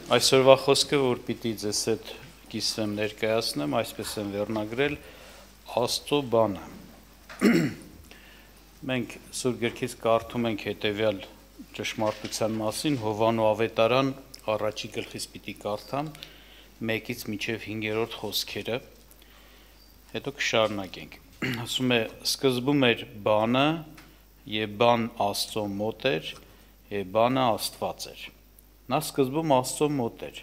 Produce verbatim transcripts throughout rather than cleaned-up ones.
Այսօրվա խոսքը, որ պիտի ձեզ հետ կիսվեմ ներկայացնեմ, այսպես եմ վերնագրել Աստծո բանը։ Մենք Սուրբ Գրքից կարդում ենք հետևյալ ճշմարտության մասին, Հովհաննես ավետարան առաջի գլխից պիտի կարդամ մեկից մինչև հինգերորդ խոսքերը, հետո կշարունակենք։ Ասում է, սկզբում էր բանը, եւ բան Աստծո մոտ էր, եւ բանը Աստված էր։ Նա սկզբում Աստծո մոտ էր,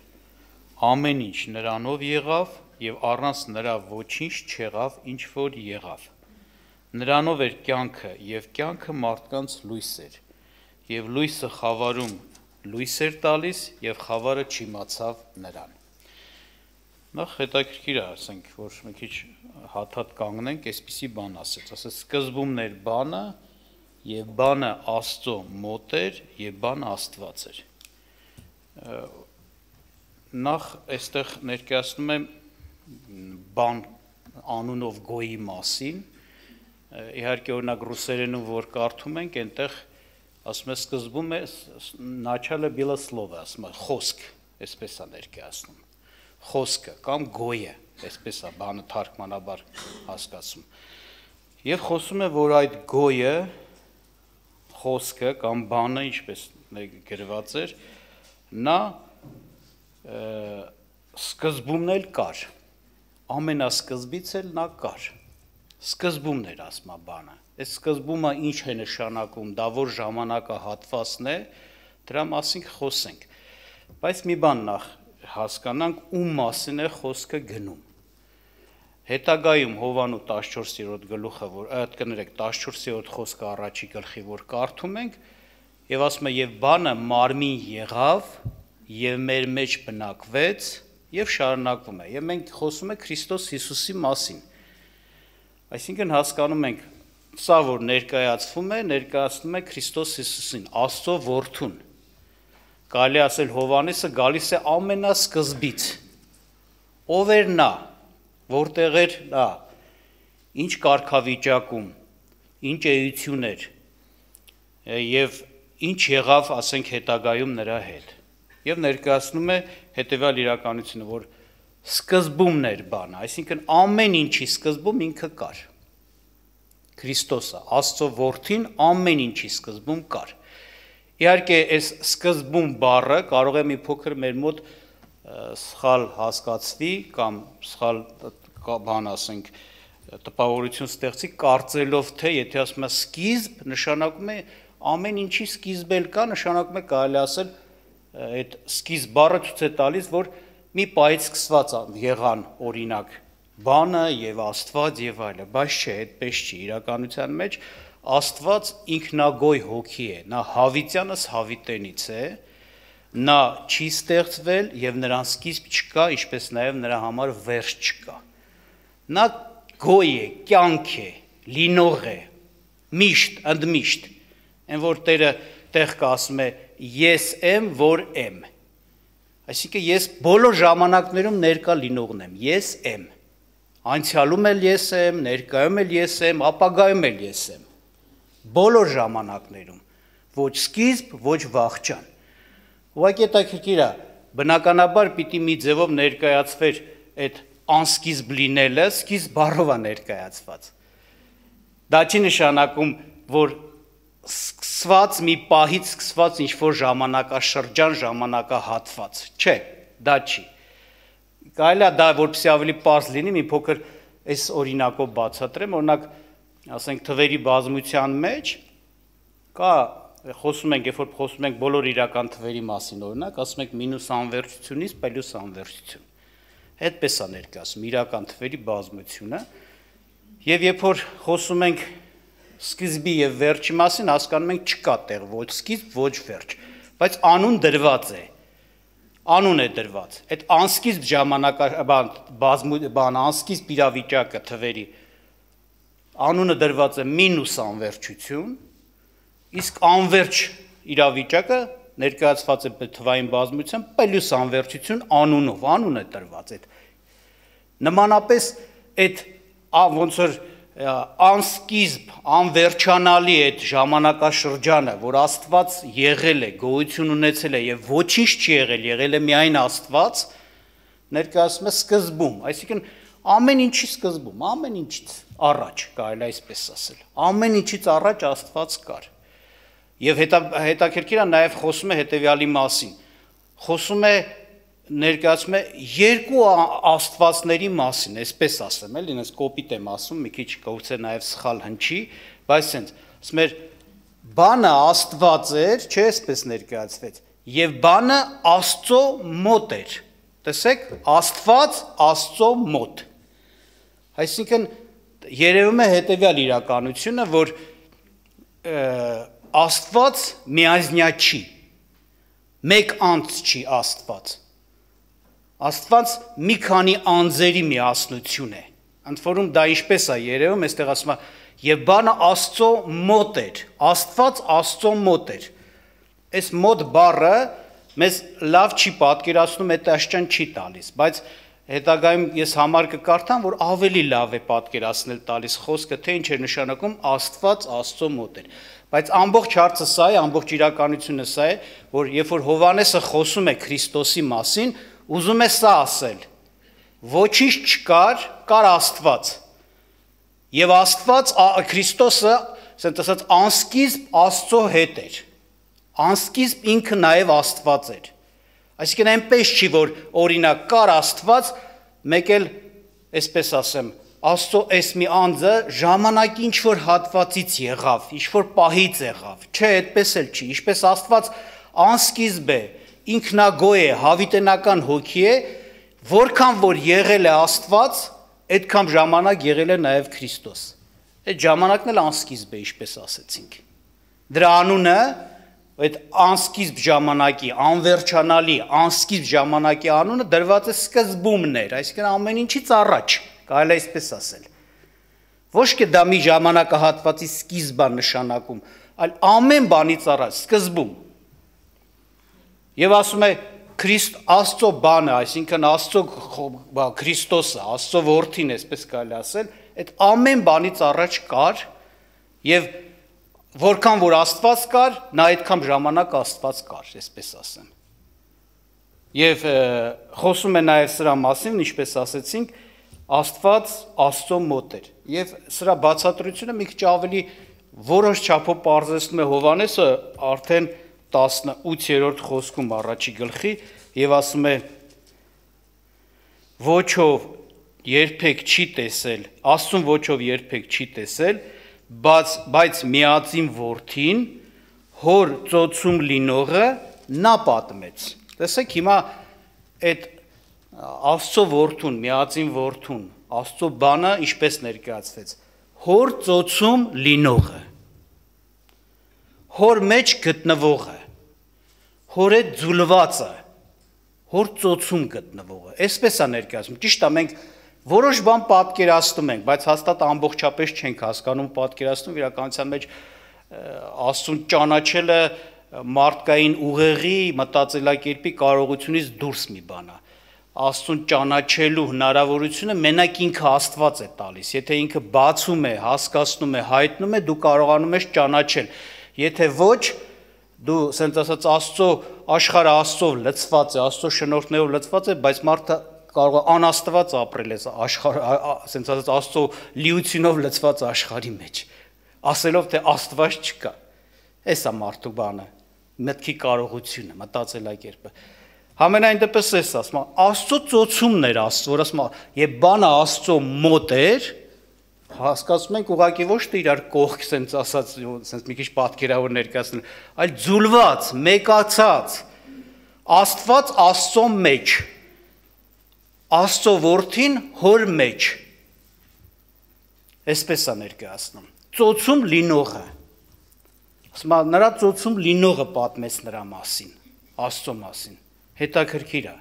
ամեն ինչ նրանով եղավ և առանց նրա ոչինչ չեղավ, ինչ որ եղավ։ Նրանով էր կյանքը և կյանքը մարդկանց լույս էր, և լույսը խավարում լույս էր տալիս և խավարը չիմացավ նրան։ Նախ հետաքրքիր է, ասենք, որ մի քիչ հատ-հատ կանգնենք, այսպիսի բան ասեց, ասեց սկզբումն էր բանը և բանը Աստծո մոտ էր և բանը Աստված էր։ Նախ այստեղ ներկայացնում եմ բան անունով գոյի մասին, իհարկե օրինակ ռուսերենում որ կարդում ենք, այնտեղ ասում է սկզբում է начало было слово, ասում է խոսք, այսպես է ներկայացնում, խոսքը կամ գոյը, այսպես է բանը թարգմանաբար հասկացում։ Եվ խոսում է, որ այդ գոյը, խոսքը կամ բանը, ինչպես գրված էր, նա սկզբումն էլ կար, ամենասկզբից էլ նա կար, սկզբումն էր ասմա բանը, այս սկզբումը ինչ է նշանակում, դա որ ժամանակահատվածն է, դրա մասին խոսենք, բայց մի բան նախ հասկանանք, ում մասին է խոսքը գնում։ Հետագայում Հովհաննես տասնչորսերորդ գլուխը, որ այդ կներեք տասնչորսերորդ խոսքը առաջի գլխի, որ կարդում ենք, եւ ասում է, եւ բանը մարմին եղավ, եւ մեր մեջ բնակվեց, եւ շարունակվում է, եւ մենք խոսում ենք Քրիստոս Հիսուսի մասին։ Այսինքն հասկանում ենք, սա որ ներկայացվում է, ներկայացնում է Քրիստոս Հիսուսին, Աստծո որդուն։ Կարելի ասել Հովհաննեսը գալիս է ամենասկզբից։ Ով էր նա, որտեղ էր նա, ինչ կարգավիճակում, ինչ էություն էր, եւ ինչ եղավ, ասենք, հետագայում նրա հետ։ Եվ ներկայացնում է հետևյալ իրականությունը, որ սկզբումն էր բանը, այսինքն ամեն ինչի սկզբում ինքը կար։ Քրիստոսը, Աստծո որդին ամեն ինչի սկզբում կար։ Իհարկե, այս սկզբում բառը կարող է մի փոքր մեր մոտ սխալ հասկացվի կամ սխալ բան ասենք տպավորություն ստեղծի կարծելով թե եթե ասում է սկիզբ նշանակում է ամեն ինչի սկիզբ էլ կա, նշանակում է կարելի ասել այդ սկիզբ բառը ցույց է տալիս, որ մի պահից սկսված եղան օրինակ բանը եւ Աստված եւ այլը, բայց չէ, այդպես չի, իրականության մեջ Աստված ինքնագոյ հոգի է, նա հավիտյանս հավիտենից է, նա չի ստեղծվել եւ նրան սկիզբ չկա, ինչպես նաեւ նրա համար վերջ չկա։ Նա գոյ է, կյանք է, լինող է, միշտ, ընդմիշտ, այն որ Տերը տեղ կա ասում է ես եմ, որ եմ, այսինքն ես բոլոր ժամանակներում ներկա լինողն եմ, ես եմ, անցյալում էլ ես եմ, ներկայում էլ ես եմ, ապագայում էլ ես եմ, բոլոր ժամանակներում, ոչ սկիզբ, ոչ վախճան։ Ուղղակի հետաքրքիր է, բնականաբար պիտի մի ձևով ներկայացվեր այդ անսկիզբ լինելը, սկիզբ բառով է ներկայացված։ Դա չի նշանակում, որ սկսված մի պահից սկսված ինչ-որ ժամանակաշրջան, ժամանակահատված, չէ, դա չի։ Կարելի է դա որպեսզի ավելի պարզ լինի, մի փոքր այս օրինակով բացատրեմ, օրինակ, ասենք թվերի բազմության մեջ կա խոսում ենք, երբ որ խոսում ենք բոլոր իրական թվերի մասին, օրինակ, ասում ենք մինուս անվերջությունից պլյուս անվերջություն։ Այդպես է ներկայացում իրական թվերի բազմությունը, եւ երբ որ խոսում ենք սկիզբի եւ վերջի մասին, հասկանում ենք չկա տեղ ոչ սկիզբ, ոչ վերջ, բայց անուն դրված է։ Անուն է դրված։ Այդ անսկիզբ ժամանակաբան բան անսկիզբ իրավիճակը թվերի անունը դրված է մինուս անվերջություն, իսկ անվերջ իրավիճակը ներկայացված է թվային բազմությամբ պլյուս անվերջություն անունով, անուն է տրված այդ։ Նմանապես այդ ոնց որ անսկիզբ, անվերջանալի այդ ժամանակաշրջանը, որ Աստված եղել է, գոյություն ունեցել է եւ ոչինչ չի եղել, եղել է միայն Աստված, ներկայացում է սկզբում, այսինքն ամեն ինչի սկզբում, ամեն ինչից առաջ, կարելի է այսպես ասել, ամեն ինչից առաջ Աստված կար։ Եվ հետաքրքիր է նաև խոսում է հետևյալի մասին, խոսում է ներկայացում է երկու աստվածների մասին, այսպես ասեմ, էլի, ինձ կոպիտ եմ ասում, մի քիչ կգուցե նաև սխալ հնչի, բայց ասենց, ասում էր, բանը Աստված էր, չէ, այսպես ներկայացվեց, եւ բանը Աստծո մոտ էր։ Տեսեք, Աստված Աստծո մոտ։ Այսինքն երևում է հետևյալ իրականությունը, որ Աստված միայնա չի, մեկ անձ չի Աստված։ Աստված մի քանի անձերի միասնություն է, ընդ որում դա ինչպես է երևում, այստեղ ասում է, եւ բանը Աստծո մոտ էր, Աստված Աստծո մոտ էր։ Այս մոտ բառը մեզ լավ չի պատկերացնում, այդ աշճան չի տալիս, բայց հետագայում ես համար կկարդամ, որ ավելի լավ է պատկերացնել տալիս խոսքը, թե ինչ է նշանակում Աստված Աստծո մոտ էր։ Բայց ամբողջ հարցը սա է, ամբողջ իրականությունը սա է, որ երբ որ Հովհաննեսը խոսում է Քրիստոսի մասին, ուզում է սա ասել, ոչինչ չկար, կար Աստված, և Աստված, Քրիստոսը, ասենք ասած, անսկիզբ Աստծո հետ էր, անսկիզբ ինքը նաև Աստված էր, այսինքն այնպես չի, որ օրինակ կար Աստված, մեկ էլ, այսպես ասեմ, Աստծո այս մի անձը ժամանակի ինչ-որ հատվածից եղավ, ինչ-որ պահից եղավ, չէ, այդպես էլ չի, ինչպես Աստված անսկիզբ է, ինքնագոյ է, հավիտենական հոգի է, որքան որ եղել է Աստված, այդքան ժամանակ եղել է նաև Քրիստոս։ Այդ ժամանակն էլ անսկիզբ է, ինչպես ասեցինք։ Դրա անունը, այդ անսկիզբ ժամանակի, անվերջանալի, անսկիզբ ժամանակի անունը դրված է սկզբումներ, այսինքն ամեն ինչից առաջ, կարելի է այսպես ասել։ Ոչ թե դա մի ժամանակահատվածի սկիզբ է նշանակում, այլ ամեն բանից առաջ, սկզբում։ Եվ ասում է Քրիստ Աստծո բանը, այսինքն Աստծո Քրիստոսը, Աստծո որդին, այսպես կարելի ասել, այդ ամեն բանից առաջ կար եւ որքան որ Աստված կար, նա այդքան ժամանակ Աստված կար, այսպես ասեմ։ Եվ խոսում է նաեւ սրա մասին, ինչպես ասեցինք, Աստված Աստծո մոտ էր։ Եվ սրա բացատրությունը մի քիչ ավելի որոշ չափով պարզեցնում է Հովհաննեսը արդեն տասնութերորդ խոսքում առաջի գլխի եւ ասում է ոչով երբեք չի տեսել, Աստծուն ոչով երբեք չի տեսել, բայց բայց միածին որդին հոր ծոցում լինողը նա պատմեց։ Տեսեք հիմա այդ Աստծո որդուն, միածին որդուն, Աստծո բանը ինչպես ներկայացվեց, հոր ծոցում լինողը, հոր մեջ գտնվողը, հոր հետ ձուլվածը, հոր ծոցում գտնվողը, այսպես է ներկայացում, ճիշտ է, մենք որոշ բան պատկերացնում ենք, բայց հաստատ ամբողջապես չենք հասկանում պատկերացնում, իրականության մեջ Աստծուն ճանաչելը մարդկային ուղեղի, մտածելակերպի կարողությունից դուրս մի բան է։ Աստծուն ճանաչելու հնարավորությունը մենակ ինքը Աստված է տալիս, եթե ինքը բացում է, հասկացնում է, հայտնում է, դու կարողանում ես ճանաչել, եթե ոչ, դու ասենց ասած Աստծո աշխարհը Աստծով լցված է, Աստծո շնորհներով լցված է, բայց մարդը կարող է անաստված ապրել այս աշխարհ, ասենց ասած Աստծո լիությունով լցված աշխարհի մեջ, ասելով թե Աստված չկա։ Էս է մարդու բանը, մտքի կարողությունը, մտածելակերպը։ Համենայն դեպս էս ասում, Աստծո ծոցումն էր Աստծո, որ ասում, եւ բանը Աստծո մոտ էր, հասկացում ենք ուղղակի ոչ թե իրար կողք սենց ասած, սենց մի քիչ պատկերավոր ներկայացնել, այլ ձուլված, մեկացած, Աստված Աստծո մեջ, Աստծո որդին հոր մեջ, այսպես է ներկայացնում, ծոցում լինողը, ասում, նրա ծոցում լինողը պատմեց նրա մասին, Աստծո մասին, հետաքրքիր է։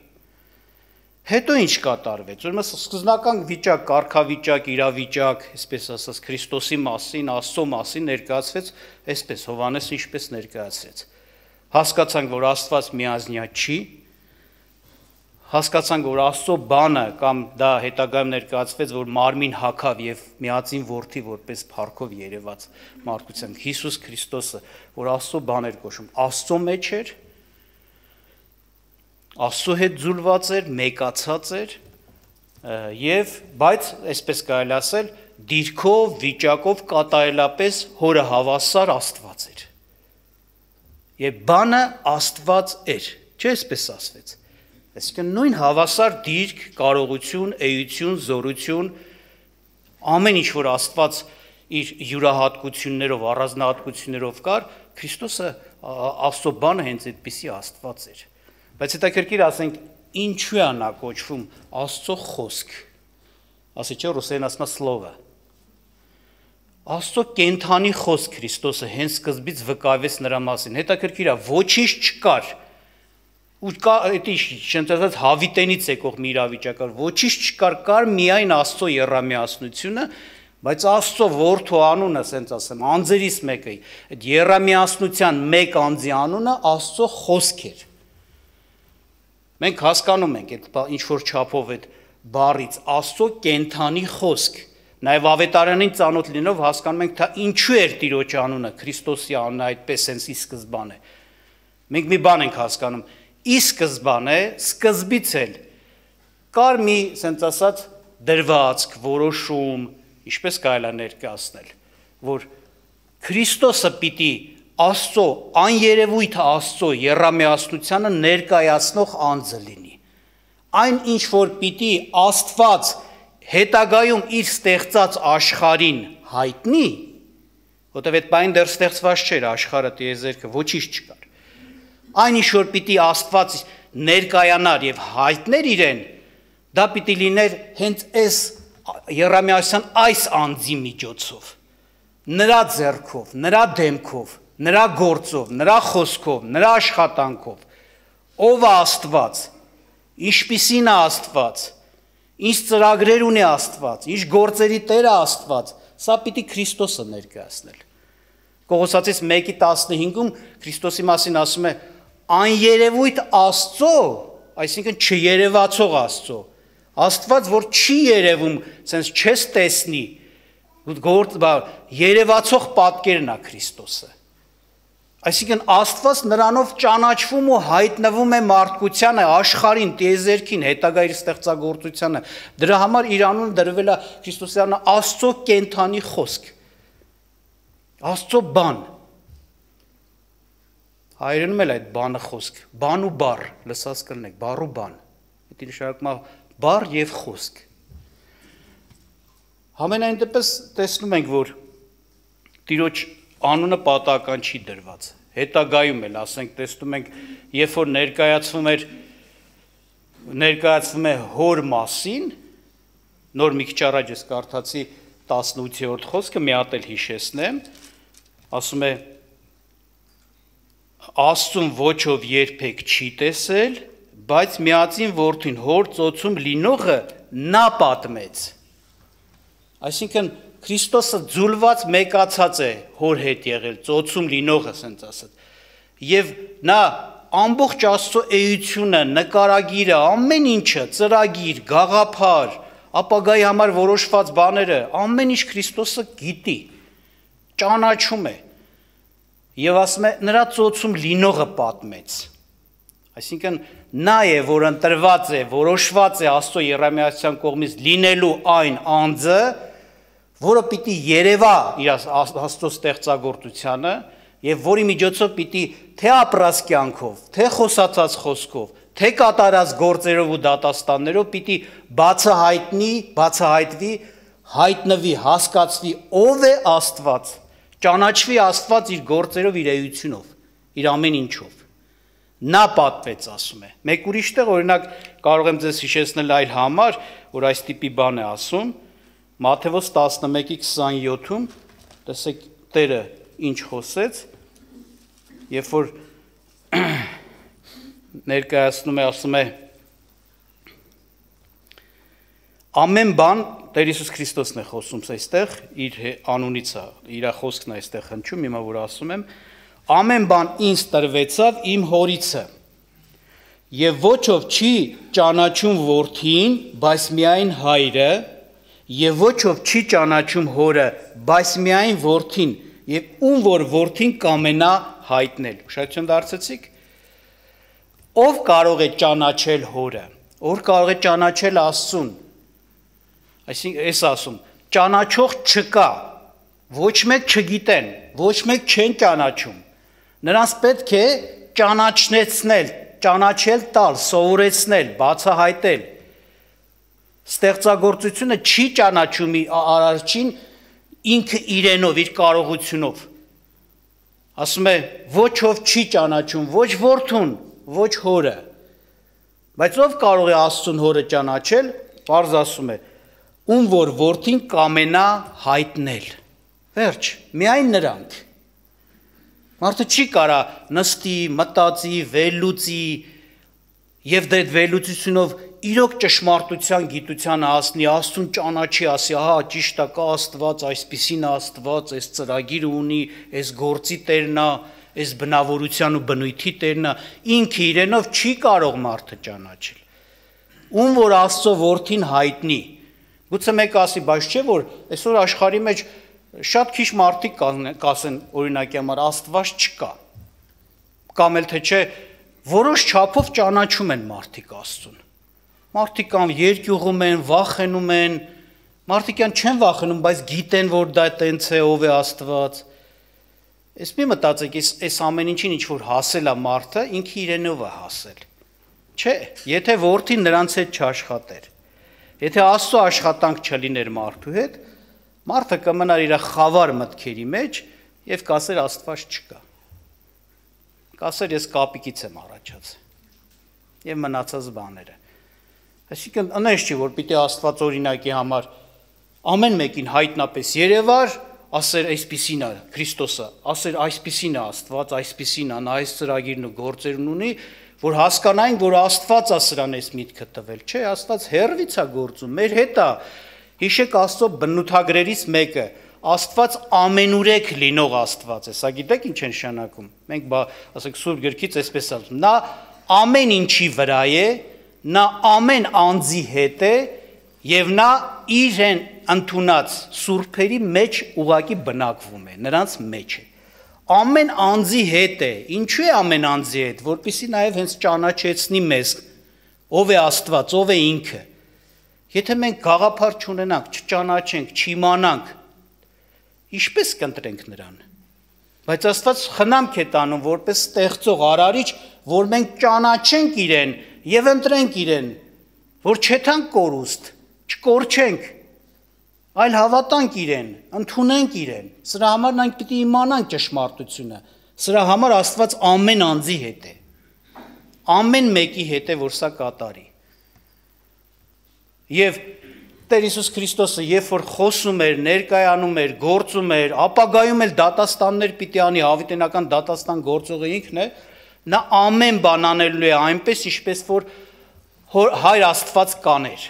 Հետո ինչ կատարվեց, ուրեմն սկզբնական վիճակ, կարգավիճակ, իրավիճակ, այսպես ասած Քրիստոսի մասին, Աստծո մասին ներկայացվեց, այսպես Հովհաննեսը ինչպես ներկայացրեց։ Հասկացանք, որ Աստված միազնյա չի, հասկացանք, որ Աստծո բանը կամ դա հետագայում ներկայացվեց, որ մարմին հագավ եւ միածին որդի որպես փառքով երևաց մարդկության Հիսուս Քրիստոսը, որ Աստծո բան էր կոչում, Աստծո մեջ էր, Աստծո հետ ձուլված էր, մեկացած էր եւ բայց այսպես կարելի ասել դիրքով, վիճակով կատարելապես հորը հավասար Աստված էր։ Եվ բանը Աստված էր, չէ՞ այսպես ասվեց։ Այսինքն նույն հավասար դիրք, կարողություն, էություն, զորություն, ամեն ինչ որ Աստված իր յուրահատկություններով, առանձնահատկություններով կար, Քրիստոսը Աստծո բանը հենց այդպիսի Աստված էր։ Բայց հետաքրքիր ասենք, ինչու է նա կոչվում Աստծո խոսք։ Ասի չէ ռուսերեն ասում է слово։ Աստծո կենթանի խոսք Քրիստոսը հենց սկզբից վկայեց նրա մասին։ Հետաքրքիր է, ոչինչ չկար։ Ու կա էդի շնչած հավիտենից եկող մի իրավիճակ, ոչինչ չկար, կար միայն Աստծո եռամիասնությունը, բայց Աստծո որդու անունը, ասենց ասեմ, անձերից մեկը, այդ եռամիասնության մեկ անձի անունը Աստծո խոսք էր։ Մենք հասկանում ենք այդ ինչ որ չափով այդ բառից Աստծո կենթանի խոսք, նաև ավետարանին ծանոթ լինելով հասկանում ենք, թե ինչու էր Տիրոջ անունը, Քրիստոսի անունը այդպես հենց ի սկզբանե։ Մենք մի բան ենք հասկանում, ի սկզբանե, սկզբից էլ կար մի, ասենց ասած, դրվածք, որոշում, ինչպես կարելի է ներկայացնել, որ Քրիստոսը պիտի Աստծո, աներևույթը Աստծո եռամիասնությանը ներկայացնող անձը լինի։ Այն ինչ որ պիտի Աստված հետագայում իր ստեղծած աշխարհին հայտնի, որտեղ այդ բանը դեռ ստեղծված չէր աշխարհը, տիեզերքը, ոչինչ չկար։ Այն ինչ որ պիտի Աստված ներկայանար եւ հայտներ իրեն, դա պիտի լիներ հենց այս եռամիասյան այս անձի միջոցով, նրա ձեռքով, նրա դեմքով, նրա գործով, նրա խոսքով, նրա աշխատանքով, ով է Աստված, ինչպիսին է Աստված, ինչ ծրագրեր ունի Աստված, ինչ գործերի Տեր է Աստված, սա պիտի Քրիստոսը ներկայացնել։ Կողոսացից մեկի տասնհինգում Քրիստոսի մասին ասում է աներևույթ Աստծո, այսինքն չերևացող Աստծո, Աստված, որ չի երևում, sense չես տեսնի, երևացող պատկերն է Քրիստոսը։ Այսինքն Աստված նրանով ճանաչվում ու հայտնվում է մարդկությանը, աշխարհին, տիեզերքին, հետագա իր ստեղծագործությանը։ Դրա համար իր անունը դրվել է Քրիստոսի անունը Աստծո կենթանի խոսք։ Աստծո բան։ Հայերենում էլ այդ բանը խոսք, բան ու բառ, լսած կլինեք, բառ ու բան։ Դա նշանակում է բառ եւ խոսք։ Համենայն դեպս տեսնում ենք, որ Տիրոջ անունը պատահական չի դրված։ Հետագայում էլ, ասենք, տեսնում ենք, երբ որ ներկայացվում էր ներկայացվում է հոր մասին, նոր մի քիչ առաջ ես կարդացի տասնութերորդ խոսքը, մի հատ էլ հիշեցնեմ, ասում է Աստծուն ոչով երբեք չի տեսել, բայց միածին որդին հոր ծոցում լինողը նա պատմեց։ Այսինքն Քրիստոսը ձուլված մեկացած է հոր հետ եղել, ծոցում լինողը, ասենց ասած։ Եվ նա ամբողջ Աստծո էությունը, նկարագիրը, ամեն ինչը, ծրագիր, գաղափար, ապագայի համար որոշված բաները, ամեն ինչ Քրիստոսը գիտի, ճանաչում է։ Եվ ասում է նրա ծոցում լինողը պատմեց։ Այսինքն նա է, որ ընտրված է, որոշված է Աստծո եռամիասյան կողմից լինելու այն անձը, որը պիտի երևա իր Աստծո ստեղծագործությանը եւ որի միջոցով պիտի թե ապրած կյանքով, թե խոսացած խոսքով, թե կատարած գործերով ու դատաստաններով պիտի բացահայտնի, բացահայտվի, հայտնվի, հասկացվի ով է Աստված, ճանաչվի Աստված իր գործերով, իր էությունով, իր ամեն ինչով։ Նա պատվեց, ասում է։ Մեկ ուրիշ տեղ օրինակ կարող եմ ձեզ հիշեցնել այլ համար, որ այս տիպի բան է ասում, Մատթեոս տասնմեկի քսանյոթում, տեսեք Տերը ինչ խոսեց, երբ որ ներկայացնում է, ասում է ամեն բան Տեր Հիսուս Քրիստոսն է խոսում այստեղ, իր անունից է, իր խոսքն է այստեղ հնչում, հիմա որ ասում եմ, ամեն բան ինձ տրվեցավ իմ հորիցը, եւ ոչ ով չի ճանաչում որդին, բայց միայն հայրը, եւ ոչ ով չի ճանաչում հորը, բայց միայն որդին, եւ ում որ որդին կամենա հայտնել։ Ուշադրություն դարձեցիք։ Ով կարող է ճանաչել հորը, ով կարող է ճանաչել Աստծուն։ Այսինքն ես ասում, ճանաչող չկա, ոչ մեկ չգիտեն, ոչ մեկ չեն ճանաչում։ Նրանց պետք է ճանաչնեցնել, ճանաչել տալ, սովորեցնել, բացահայտել։ Ստեղծագործությունը չի ճանաչում արարչին ինքը իրենով, իր կարողությունով։ Ասում է, ոչ ով չի ճանաչում, ոչ որդուն, ոչ հորը։ Բայց ով կարող է Աստծուն հորը ճանաչել, պարզ ասում է, ում որ որդին կամենա հայտնել։ Վերջ, միայն նրանք։ Մարդը չի կարա նստի, մտածի, վերլուծի եւ դե վերլուծությունով իրոք ճշմարտության գիտության հասնի, Աստծուն ճանաչի, ասի, ահա ճիշտ է, կա Աստված, այսպիսին Աստված, այս ծրագիրը ունի, այս գործի տերն է, այս բնավորության ու բնույթի տերն է, ինքը իրենով չի կարող մարդը ճանաչել։ Ում որ Աստծո որդին հայտնի։ Գուցե մեկ ասի, բայց չէ որ այսօր աշխարհի մեջ շատ քիչ մարդիկ կասեն, օրինակի համար Աստված չկա։ Կամ էլ թե չէ, որոշ չափով ճանաչում են մարդիկ Աստծուն։ Մարդիկ կամ երկյուղում են, վախենում են, մարդիկ չեն վախենում, բայց գիտեն, որ դա տենց է, ով է Աստված։ Ես մի մտածեք, այս ամեն ինչին ինչ որ հասել է մարդը, ինքը իրենով է հասել։ Չէ, եթե որդին նրանց հետ չաշխատեր, եթե Աստծո աշխատանք չլիներ մարդու հետ, մարդը կմնար իր խավար մտքերի մեջ եւ կասեր Աստված չկա։ Կասեր ես կապիկից եմ առաջացել եւ մնացած բաները։ Այսինքն անես չի որ պիտի Աստված օրինակի համար ամեն մեկին հայտնապես երևար, ասեր այսպիսին է Քրիստոսը, ասեր այսպիսին է Աստված, այսպիսին է, նա այս ծրագիրն ու գործերն ունի, որ հասկանային, որ Աստված է սրան այս միտքը տվել, չէ, Աստված հերվից է գործում, մեր հետ է։ Հիշեք Աստծո բնութագրերից մեկը, Աստված ամենուրեք լինող Աստված է, սա գիտեք ինչ է նշանակում։ Մենք ասենք Սուրբ գրքից այսպես ասում, նա ամեն ինչի վրա է, նա ամեն անձի հետ է եւ նա իրեն ընդունած սուրբերի մեջ ուղակի բնակվում է, նրանց մեջ է։ Ամեն անձի հետ է, ինչու է ամեն անձի հետ, որպեսզի նաեւ հենց ճանաչեցնի մեզ, ով է Աստված, ով է ինքը։ Եթե մենք գաղափար չունենանք, չճանաչենք, չիմանանք, ինչպես կընտրենք նրան։ Բայց Աստված խնամք է տանում որպես ստեղծող արարիչ, որ մենք ճանաչենք իրեն եւ ընտրենք իրեն, որ չեթանք կորուստ, չկորչենք, այլ հավատանք իրեն, ընդունենք իրեն։ Սրա համար մենք պիտի իմանանք ճշմարտությունը։ Սրա համար Աստված ամեն անձի հետ է։ Ամեն մեկի հետ է, որ սա կատարի։ Եվ Տեր Հիսուս Քրիստոսը երբ որ խոսում էր, ներկայանում էր, գործում էր, ապագայում էլ դատաստաններ պիտի անի, հավիտենական դատաստան գործողը ինքն է, նա ամեն բան անելու է այնպես, ինչպես որ Հայր Աստված կաներ։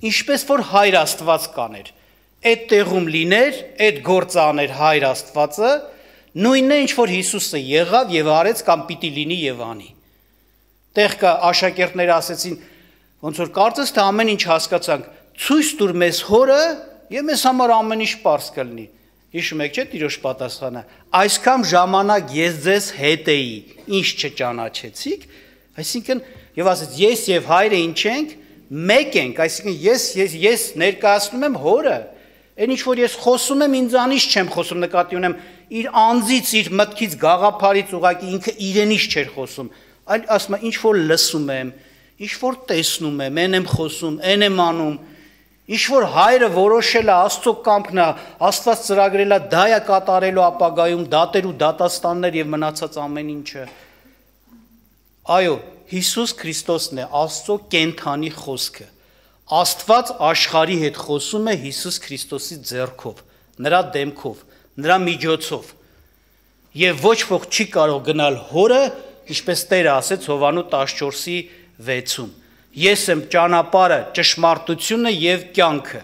Ինչպես որ Հայր Աստված կաներ։ Այդ տեղում լիներ, այդ գործը աներ Հայր Աստվածը, նույնն է ինչ որ Հիսուսը եղավ եւ արեց կամ պիտի լինի եւ անի։ Տեղ կա աշակերտները ասեցին, ոնց որ կարծես թե ամեն ինչ հասկացանք, ցույց տուր մեզ հորը եւ մեզ համար ամեն ինչ པարզ կլինի։ Հիշում եք, չէ՞ Տիրոջ պատասխանը, այսքան ժամանակ ես ձեզ հետ էի, ինչ չճանաչեցիք, այսինքն եւ ասեց ես եւ Հայրը ինչ ենք, մեկ ենք, այսինքն ես ես ես ներկայացնում եմ հորը, այն ինչ որ ես խոսում եմ ինձանից չեմ խոսում, նկատի ունեմ իր անձից, իր մտքից, գաղափարից ուղակի ինքը իրենից չէր խոսում, այլ ասում է ինչ որ լսում եմ, ինչ որ տեսնում եմ, այն եմ խոսում, այն եմ անում, ինչ որ Հայրը որոշել է Աստծո կամքն է, Աստված ծրագրել է դա է կատարելու ապագայում, դատեր ու դատաստաններ եւ մնացած ամեն ինչը։ Այո, Հիսուս Քրիստոսն է Աստծո կենթանի խոսքը։ Աստված աշխարհի հետ խոսում է Հիսուս Քրիստոսի ձեռքով, նրա դեմքով, նրա միջոցով։ Եվ ոչ ոք չի կարող գնալ հորը, ինչպես Տերը ասեց Հովաննես տասնչորսի վեցում։ Ես եմ ճանապարհը, ճշմարտությունը եւ կյանքը։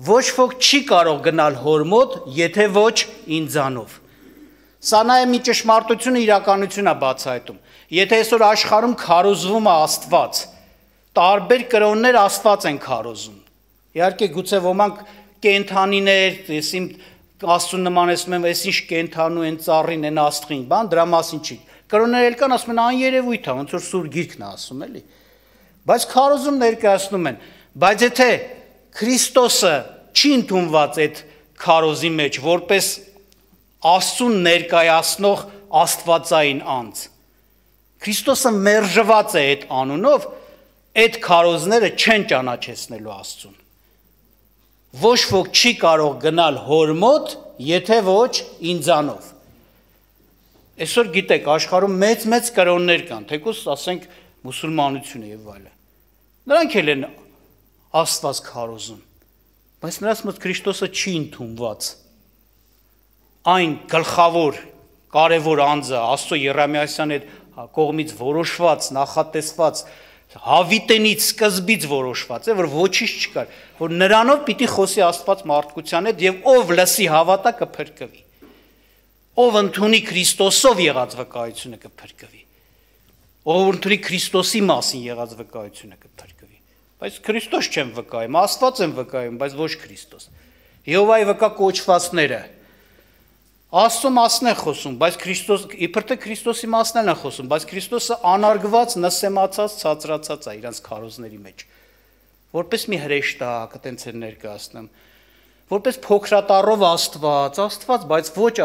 Ոչ ոք չի կարող գնալ հոր մոտ, եթե ոչ ինձանով։ Սա նաև մի ճշմարտությունը իրականություն է բացահայտում։ Եթե այսօր աշխարհում քարոզվում է Աստված, տարբեր կրոններ Աստված են քարոզում։ Իհարկե գուցե ոմանք կենթանիներ, եսիմ Աստծուն նմանեցնում են, այս ինչ կենթանու են, ծառին են, աստղին, բան, դրա մասին չի։ Կրոններ էլ կան, ասում են աներևույթ է, ոնց որ Սուրբ Գիրքն է ասում, էլի։ Բայց քարոզում ներկայացնում են, բայց եթե Քրիստոսը չի ընդունված այդ քարոզի մեջ, որպես Աստծուն ներկայացնող աստվածային անձ, Քրիստոսը մերժված է այդ անունով, այդ քարոզները չեն ճանաչեցնելու Աստծուն։ Ոչ ոք չի կարող գնալ հոր մոտ, եթե ոչ ինձանով։ Այսօր գիտեք, աշխարհում մեծ-մեծ կրոններ կան, թեկուզ ասենք մուսուլմանությունը եւ այլն։ Նրանք էլ են Աստված քարոզում, բայց նրանց մոտ Քրիստոսը չի ընդունված։ Այն գլխավոր, կարևոր անձը Աստծո Երեմիասյանի կողմից որոշված, նախատեսված, հավիտենից, սկզբից որոշված է, որ ոչինչ չկար, որ նրանով պիտի խոսի Աստված մարդկության հետ եւ ով լսի հավատա կփրկվի։ Ով ընդունի Քրիստոսով եղած վկայությունը կփրկվի։ Ով ընդունի Քրիստոսի մասին եղած վկայությունը կփրկվի։ Բայց Քրիստոս չեն վկայում, Աստված են վկայում, բայց ոչ Քրիստոս։ Եհովայի վկա կոչվածները Աստծո մասն է խոսում, բայց Քրիստոս, իբր թե Քրիստոսի մասն է խոսում, բայց Քրիստոսը անարգված, նսեմացած, ցածրացած է իրանց քարոզների մեջ։ Որպես մի հրեշտակ, այտենց են ներկայացնում, որպես փոքրատառով Աստված, Աստված, բայց ոչ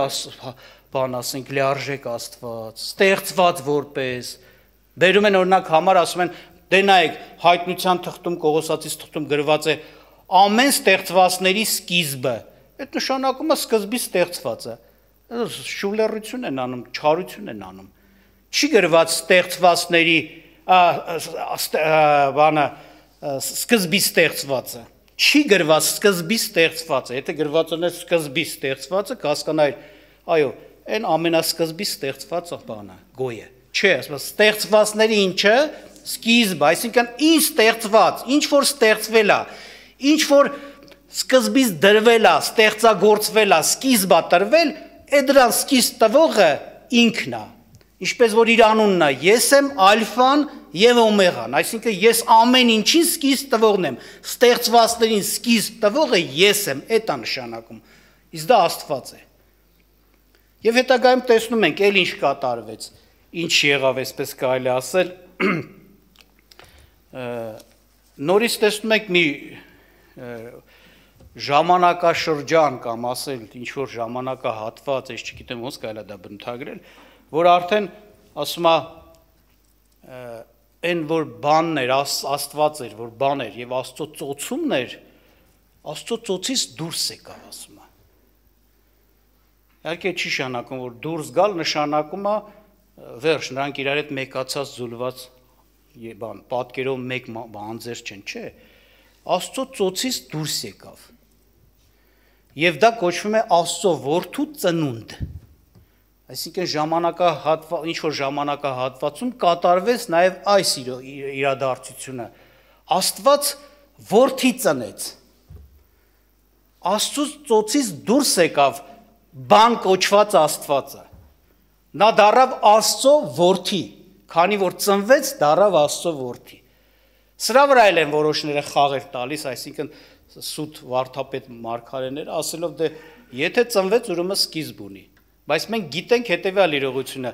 բան ասենք լիարժեք Աստված, ստեղծված որպես, բերում են օրինակ համար, ասում են, դե նայեք, հայտնության թղթում, Կողոսացիս թղթում գրված է ամեն ստեղծվածների սկիզբը, այդ նշանակում է սկզբից ստեղծված է։ Շուլերություն են անում, չարություն են անում։ Չի գրված ստեղծվածների բանը սկզբից ստեղծվածը։ Չի գրված սկզբից ստեղծվածը։ Եթե գրված ուներ սկզբից ստեղծվածը, կհասկանայր, այո, այն ամենասկզբից ստեղծված բանը, գոյը։ Չէ, ասում ստեղծվածների ինչը սկիզբը, այսինքն ինչ ստեղծված, ինչ որ ստեղծվել է, ինչ որ սկզբից դրվել է, ստեղծագործվել է, սկիզբ է տրվել, այդ դրան սկիզբ տվողը ինքն է, ինչպես որ իր անունն է, ես եմ ալֆան եւ օմեգան, այսինքն ես ամեն ինչին սկիզբ տվողն եմ, ստեղծվածներին սկիզբ տվողը ես եմ, այդ է նշանակում, իսկ դա Աստված է։ Եվ հետագայում տեսնում ենք, էլ ինչ կատարվեց, ինչ եղավ, այսպես կարելի ասել, նորից տեսնում ենք մի ժամանակաշրջան կամ ասել ինչ-որ ժամանակահատված, ես չգիտեմ ոնց կարելի է դա բնութագրել, որ արդեն ասում է այն որ բանն էր, Աստված էր, որ բան էր եւ Աստծո ծոցումն էր, Աստծո ծոցից դուրս եկավ, ասում է։ Իհարկե չի նշանակում, որ դուրս գալ նշանակում է վերջ, նրանք իրար հետ մեկացած զուլված բան, պատկերով մեկ անձեր չեն, չէ։ Աստծո ծոցից դուրս եկավ։ Եվ դա կոչվում է Աստծո որդու ծնունդ։ Այսինքն ժամանակահատված, ինչ որ ժամանակահատվածում կատարվեց նաև այս իրադարձությունը։ Աստված որդի ծնեց։ Աստծո ծոցից դուրս եկավ բան կոչված Աստվածը։ Նա դառավ Աստծո որդի, քանի որ ծնվեց, դառավ Աստծո որդի։ Սրա վրա էլ են որոշները խաղեր տալիս, այսինքն սուտ վարդապետ մարգարեները ասելով դե եթե ծնվեց ուրեմն սկիզբ ունի, բայց մենք գիտենք հետևյալ իրողությունը,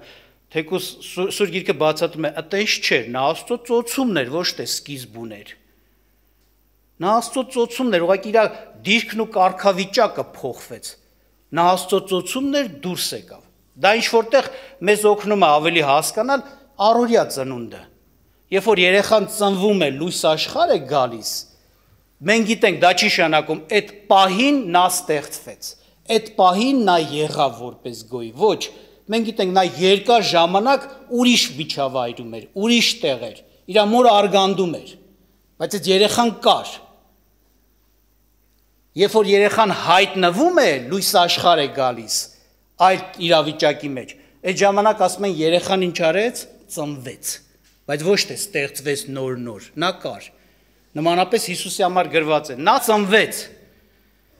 թեկուզ Սուրբ Գիրքը բացատրում է, այտենց չէր, նա Աստծո ծոցումն էր, ոչ թե սկիզբ ուներ։ Նա Աստծո ծոցումն էր, ուղղակի իր դիրքն ու կարգավիճակը փոխվեց։ Նա Աստծո ծոցումն էր, դուրս եկավ։ Դա ինչ որտեղ մեզ օգնում է ավելի հասկանալ առօրյա ծնունդը։ Երբ որ երեխան ծնվում է, լույս աշխարհ է գալիս, մենք գիտենք դա չի նշանակում այդ պահին նա ստեղծվեց, այդ պահին նա եղավ որպես գոյ, ոչ, մենք գիտենք նա երկար ժամանակ ուրիշ միջավայրում էր, ուրիշ տեղ էր, իր մորը արգանդում էր, բայց այդ երեխան կար։ Երբ որ երեխան հայտնվում է, լույս աշխարհ է գալիս այդ իրավիճակի մեջ, այդ ժամանակ ասում են երեխան ինչ արեց, ծնվեց, բայց ոչ թե ստեղծվեց նոր-նոր, նա կար։ Նմանապես Հիսուսի համար գրված է, նա ծնվեց,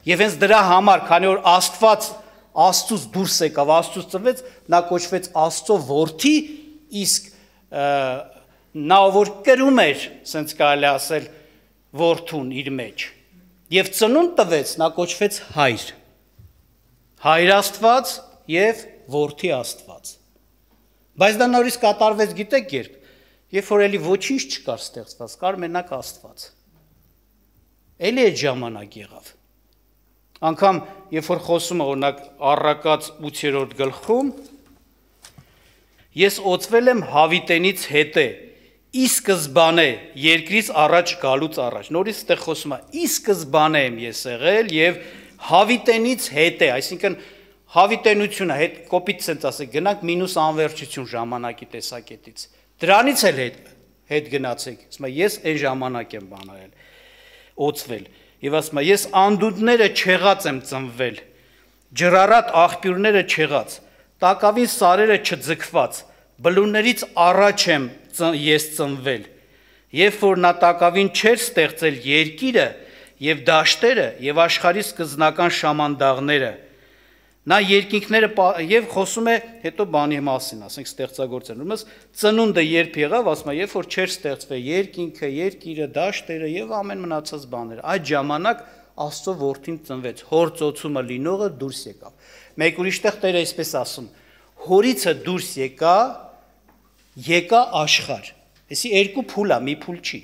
եւ հենց դրա համար, քանի որ Աստված Աստծուց դուրս եկավ, Աստծուց ծնվեց, նա կոչվեց Աստծո որդի, իսկ նա որ կրում էր, ասենց կարելի ասել, որդուն իր մեջ, եւ ծնունդ տվեց, նա կոչվեց հայր, հայր Աստված եւ որդի Աստված, բայց դա նորից կատարվեց, գիտեք երբ, երբ որ էլի ոչինչ չկար ստեղծված, կար մենակ Աստված, էլի այդ ժամանակ եղավ, անգամ երբ որ խոսում է օրինակ առակած ութերորդ գլխում, ես օծվել եմ հավիտենից հետե, ի սկզբանե երկրից առաջ գալուց առաջ, նորից այդտեղ խոսում է, ի սկզբանե եմ ես եղել եւ հավիտենից հետե, այսինքն հավիտենությունը հետ կոպիտ sense ասեք, գնանք մինուս անվերջություն ժամանակի տեսակետից, դրանից էլ հետ հետ գնացեք, ասում եմ ես այն ժամանակ եմ բանալել, օծվել, եւ ասում եմ ես անդունդները չեղած եմ ծնվել, ջրառատ աղբյուրները չեղած, տակավին սարերը չձգված, բլուրներից առաջ եմ ես ծնվել, երբ որ նա տակավին չէր ստեղծել երկիրը եւ դաշտերը եւ աշխարհի սկզբնական շամանդաղները, նա երկինքները եւ խոսում է հետո բանի մասին, ասենք ստեղծագործել, ումս ծնունդը երբ եղավ, ասում է, երբ որ չէր ստեղծվել երկինքը, երկիրը, դաշտերը եւ ամեն մնացած բաները, այդ ժամանակ Աստծո որդին ծնվեց, հոր ծոցումը լինողը դուրս եկավ։ Մեկ ուրիշտեղ Տերը այսպես ասում, հորիցը դուրս եկա, եկա աշխարհ։ Էսի երկու փուլ է, մի փուլ չի։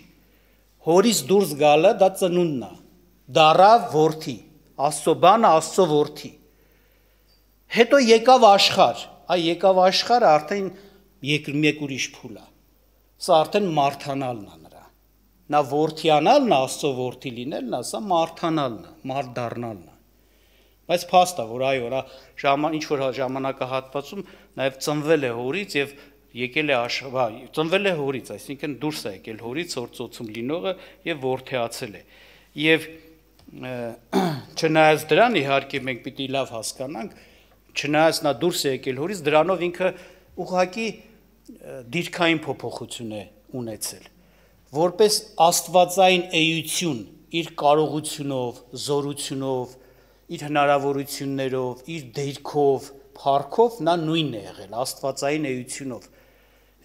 Հորից դուրս գալը դա ծնունդն է, դառավ որդի, Աստծո բանը Աստծո որդի։ Հետո եկավ աշխարհ, այ եկավ աշխարհը արդեն մեկ ուրիշ փուլ է։ Սա արդեն մարթանալն է նրա։ Նա որդիանալն է, Աստծո որդի լինելն է, սա մարթանալն է, մարդ դառնալն է։ Բայց փաստ է, որ այո, ժաման ինչ որ ժամանակահատվածում նաև ծնվել է հորից եւ եկել է աշխարհ, ծնվել է հորից, այսինքն դուրս է եկել հորից, որ ծոցում լինողը եւ որդեացել է։ Եվ չնայած դրան իհարկե մենք պիտի լավ հասկանանք, չնայած նա դուրս է եկել հորից, դրանով ինքը ուղղակի դիրքային փոփոխություն է ունեցել, որպես աստվածային էություն, իր կարողությունով, զորությունով, իր հնարավորություններով, իր դերքով, փառքով նա նույնն է եղել, աստվածային էությունով,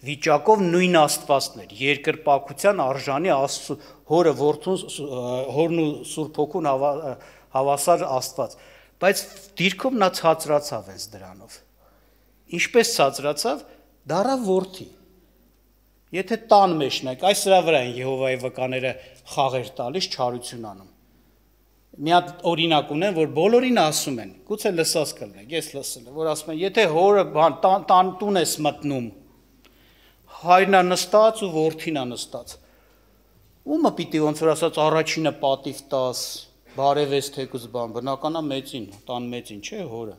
վիճակով նույն Աստվածն էր, երկրպագության արժանի Աստծո հորը, որդուն, հորն ու Սուրբ Հոգուն հավասար Աստված, բայց դիրքով նա ցածրացավ այս դրանով։ Ինչպես ցածրացավ, դառավ որդի։ Եթե տան մեջն եք, այս սրա վրա են Եհովայի վկաները խաղեր տալիս, չարություն անում։ Մի հատ օրինակ ունեն, որ բոլորին ասում են, գուցե լսած կլինեք, ես լսել եմ, որ ասում են, եթե հորը բան տան տուն ես մտնում, հայրն է նստած ու որդին է նստած։ Ումը պիտի ոնց որ ասած առաջինը պատիվ տաս, բարևես թեկուզ բան, բնական է մեծին, տան մեծին, չէ, հորը։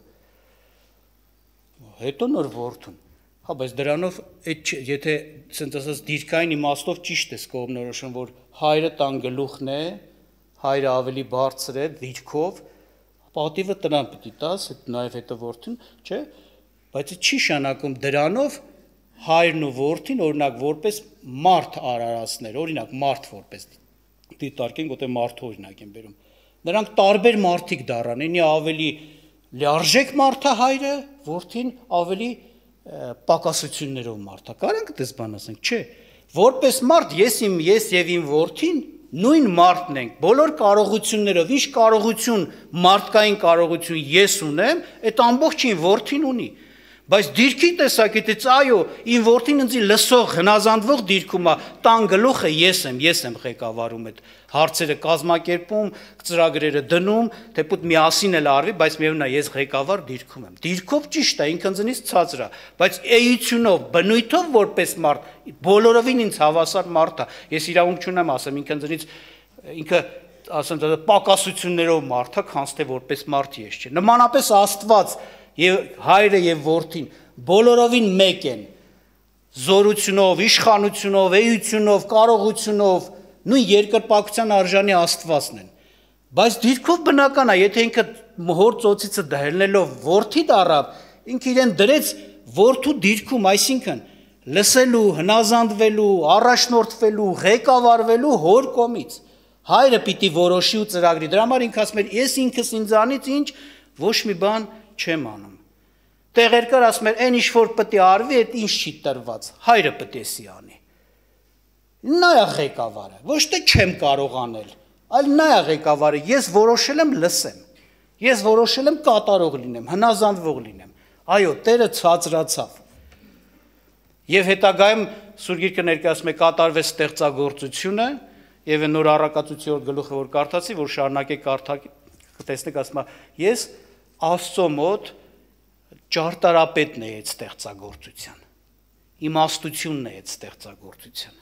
Հետո նոր որդուն։ Հա, բայց դրանով եթե ասենց ասած դիրքային իմաստով ճիշտ է կողմնորոշում, որ հայրը տան գլուխն է, հայրը ավելի բարձր է դիրքով, պատիվը տնան պիտի տաս, նաև հետո որդին, չէ, բայց չի շանակում դրանով հայրն ու որդին օրինակ որպես մարդ արարածներ, օրինակ մարդ որպես դիտարկենք, որտեղ մարդու օրինակ են բերում։ Նրանք տարբեր մարդիկ դառան, ինի ավելի լիարժեք մարդ է հայրը, որդին ավելի պակասություններով մարդ է։ Կարանք այդպես բան ասենք, չէ։ Որպես մարդ ես իմ ես եւ իմ որդին նույն մարդն ենք, բոլոր կարողություններով, ինչ կարողություն, մարդկային կարողություն ես ունեմ, այդ ամբողջին որդին ունի, բայց դիրքի տեսակետից այո, իմ որդին ինձ լսող, հնազանդվող դիրքում է, տան գլուխը ես եմ, ես եմ ղեկավարում այդ հարցերը կազմակերպում, ծրագրերը դնում, թեպուտ միասին էլ արվի, բայց միևնույն է ես ղեկավար դիրքում եմ։ Դիրքով ճիշտ է, ինքն ինձնից ցածր է, բայց էությունով, բնույթով որպես մարդ, բոլորովին ինձ հավասար մարդ է։ Ես իրավունք չունեմ ասեմ, ինքն ինձնից ինքը ասեմ, պակասություններով մարդ է, քանց թե որպես մարդ ես չէ։ Նմանապես Աստված եւ հայրը եւ որդին բոլորովին մեկ են, զորությունով, իշխանությունով, էությունով, կարողությունով, նույն երկրպագության արժանի Աստվածն են։ Բայց դիրքով բնական է, եթե ինքը հոր ծոցիցը դահելնելով որդի դառավ, ինքը իրեն դրեց որդու դիրքում, այսինքն լսելու, հնազանդվելու, առաջնորդվելու, ղեկավարվելու հոր կողմից։ Հայրը պիտի որոշի ու ծրագրի։ Դրա համար ինքը ասում էր, ես ինքս ինձանից ինչ ոչ մի բան չեմ անում։ Տեղեր կար ասում էր, այն ինչ որ պետք է արվի, այդ ինչ չի տրված, հայրը պետք է սի անի։ Նա է ղեկավարը, ոչ թե չեմ կարող անել, այլ նա է ղեկավարը, ես որոշել եմ լսեմ, ես որոշել եմ կատարող լինեմ, հնազանդվող լինեմ, այո, Տերը ցածրացավ։ Եվ հետագայում Սուրբ Գիրքը ներկայացնում է կատարվեց ստեղծագործությունը, եւ նոր առակացության գլուխը որ կարդացի, որ շարունակեք կարդալ, կտեսնեք ասում է, ես Աստծո մոտ ճարտարապետն է այդ ստեղծագործության, իմաստությունն է այդ ստեղծագործության։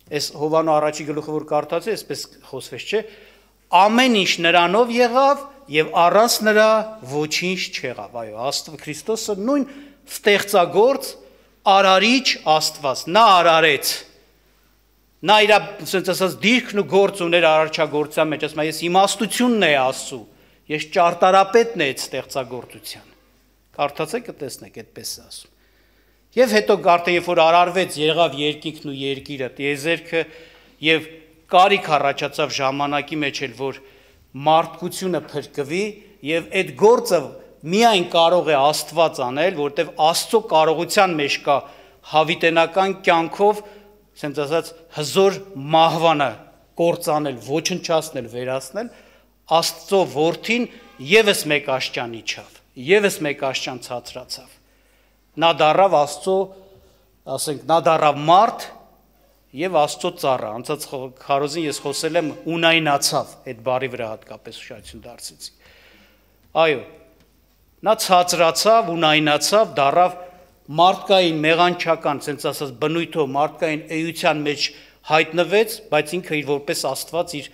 Այս Հովանո առաջի գլուխը որ կարդացի, այսպես խոսվեց, չէ, ամեն ինչ նրանով եղավ եւ առանց նրա ոչինչ չեղավ։ Այո, Աստված Քրիստոսը նույն ստեղծագործ արարիչ Աստված, նա արարեց։ Նա իր ասենց ասած դիրքն ու գործ ուներ արարչագործության մեջ, ասում է, ես իմաստությունն է Աստծո, ես ճարտարապետն է այդ ստեղծագործության։ Կարդացեք կտեսնեք, այդպես է ասում։ Եվ հետո արդեն երբ որ արարվեց, եղավ երկինքն ու երկիրը, տիեզերքը եւ կարիք առաջացավ ժամանակի մեջ էլ, որ մարդկությունը փրկվի եւ այդ գործը միայն կարող է Աստված անել, որտեվ Աստծո կարողության մեջ կա հավիտենական կյանքով, ասենց ասած, հզոր մահվանը կործանել, ոչնչացնել, վերացնել, Աստծո որդին եւս մեկ աշճան իջավ, եւս մեկ աշճան ցածրացավ։ Նա դառավ Աստծո, ասենք, նա դառավ մարդ եւ Աստծո ծառա։ Անցած քարոզին ես խոսել եմ ունայնացավ, այդ բառի վրա հատկապես ուշադրություն դարձրեցի։ Այո, նա ցածրացավ, ունայնացավ, դառավ մարդկային մեղանչական, ասենց ասած, բնույթով մարդկային էության մեջ հայտնվեց, բայց ինքը իր որպես Աստված իր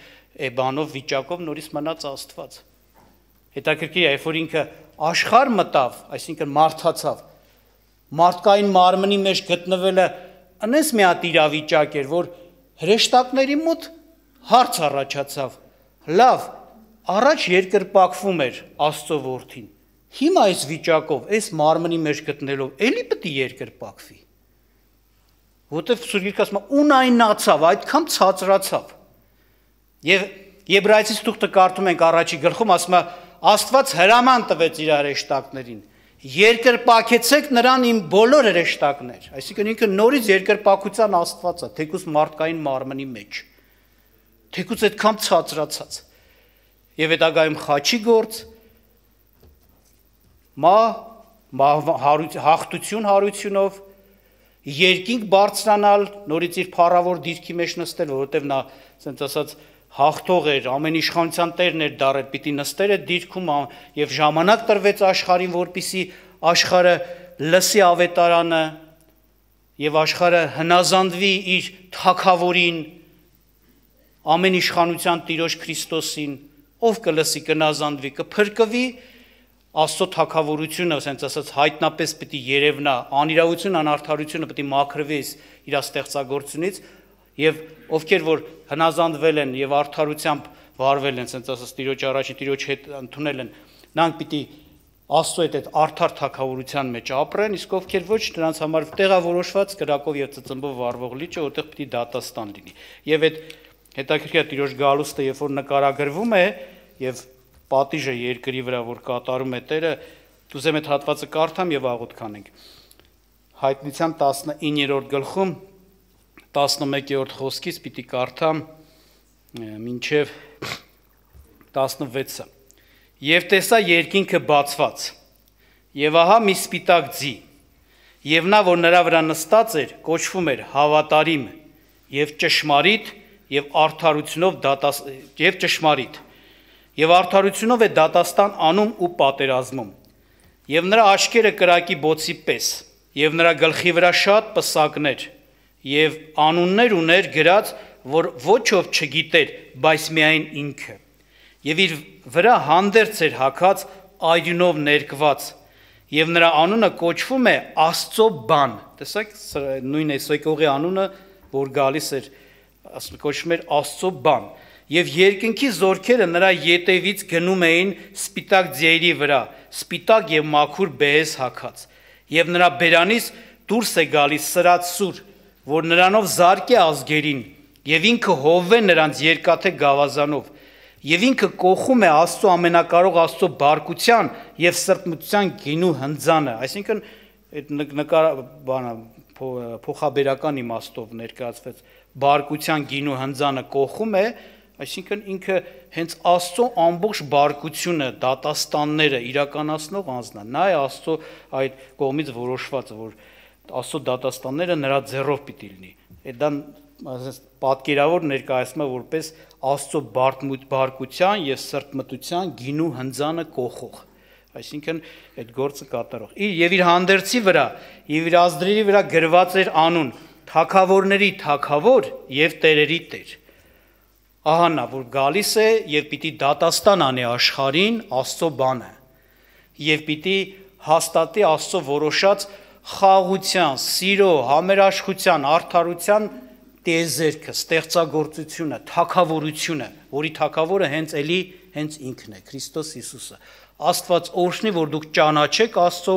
էբանով վիճակով նորից մնաց Աստված։ Հետաքրքիր է, երբ որ ինքը աշխարհ մտավ, այսինքն մարդացավ, մարդկային մարմնի մեջ գտնվելը այնպես մի հատ իրավիճակ էր, որ հրեշտակների մոտ հարց առաջացավ, լավ, առաջ երկրպագվում էր Աստծո որդին, հիմա այս վիճակով, այս մարմնի մեջ գտնելով, էլի պետք է երկրպագվի, որտեվ Սուրբ Գիրքը ասում է, ունայնացավ, այդքան ցածրացավ։ Եվ Եբրայեցիս թուղթը կարդում ենք առաջի գլխում, ասում է, Աստված հրաման տվեց իր հրեշտակներին, երկրպագեցեք նրան իմ բոլոր հրեշտակներ, այսինքն ինքը նորից երկրպագության Աստվածը, թեկուզ մարդկային մարմնի մեջ, թեկուզ այդքան ցածրացած։ Եվ հետագայում խաչի գործ, մա, հաղթություն հարությունով, երկինք բարձրանալ, նորից իր փառավոր դիրքի մեջ նստել, որովհետև նա, ասենց ասած, հաղթող էր, ամեն իշխանության տերն էր դարել, պիտի նստեր այդ դիրքում եւ ժամանակ տրվեց աշխարհին, որպիսի աշխարհը լսի ավետարանը եւ աշխարհը հնազանդվի իր թագավորին, ամեն իշխանության Տիրոջ Քրիստոսին, ով կլսի, կնազանդվի, կփրկվի, Աստծո թագավորությունը, ասենց ասած, հայտնապես պիտի երևնա, անիրավություն, անարդարությունը պիտի մաքրվի իր ստեղծագործությունից, եւ ովքեր որ հնազանդվել են եւ արդարությամբ վարվել են, ասենց ասած, Տիրոջ առաջին Տիրոջ հետ ընդունել են, նրանք պիտի Աստծո հետ այդ արդար թագավորության մեջ ապրեն, իսկ ովքեր ոչ, նրանց համար տեղավորոշված կրակով եւ ծծմբով վառվող լիճը, որտեղ պիտի դատաստան լինի։ Եվ այդ հետաքրքիր Տիրոջ գալուստը, երբ որ նկարագրվում է եւ պատիժը երկրի վրա, որ կատարում է Տերը, դուզեմ այդ հատվածը կարդամ եւ աղոթք անենք։ Հայտնության տասնիններորդ գլխում տասնմեկերորդ խոսքից պիտի կարդամ մինչև տասնվեցը։ Եվ տեսա երկինքը բացված, եւ ահա մի սպիտակ ձի, եւ նա, որ նրա վրա նստած էր, կոչվում էր հավատարիմ եւ ճշմարիտ եւ արդարությունով դատաս եւ ճշմարիտ եւ արդարությունով է դատաստան անում ու պատերազմում, եւ նրա աչքերը կրակի բոցի պես, եւ նրա գլխի վրա շատ պսակներ, եւ անուններ ուներ գրած, որ ոչ ով չգիտեր, բայց միայն ինքը, եւ իր վրա հանդերձ էր հագած այրյունով ներկված, եւ նրա անունը կոչվում է Աստծո բան, տեսեք, նույն Էսոկողի անունը, որ գալիս էր, կոչվում էր Աստծո բան, եւ երկնքի զորքերը նրա ետևից գնում էին սպիտակ ձիերի վրա, սպիտակ եւ մաքուր բեհես հագած, եւ նրա բերանից դուրս է գալիս սրած սուր, որ նրանով զարկե ազգերին, եւ ինքը հովվե նրանց երկաթե գավազանով, Եվ ինքը կողում է Աստծո ամենակարող Աստծո բարկության եւ սրտմտության գինու հնձանը, այսինքն այդ նկար բանը փոխաբերական իմաստով ներկայացվեց բարկության գինու հնձանը կողում է, այսինքն ինքը հենց Աստծո ամբողջ բարկությունը, դատաստանները իրականացնող անձն է, նա է Աստծո այդ կողմից որոշված, որ Աստծո դատաստանները նրա ձեռով պիտի լինի։ Այդ դա պատկերավոր ներկայացնում է որպես Աստծո բարկության եւ սրտմտության գինու հնձանը կողող, այսինքն այդ գործը կատարող։ Եվ իր հանդերձի վրա եւ իր ազդրերի վրա գրված էր անուն թագավորների թագավոր եւ տերերի տեր։ Ահա նա որ գալիս է եւ պիտի դատաստան անի աշխարհին Աստծո բանը եւ պիտի հաստատի Աստծո որոշած խաղաղության, սիրո, համերաշխության, արդարության տեզերքը, ստեղծագործությունը, թագավորությունը, որի թագավորը հենց էլի հենց ինքն է, Քրիստոս Հիսուսը։ Աստված օրհնի, որ դուք ճանաչեք Աստծո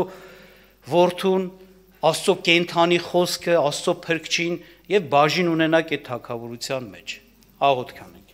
որդուն, Աստծո կենթանի խոսքը, Աստծո փրկչին եւ բաժին ունենաք այդ թագավորության մեջ։ Աղոթք անենք։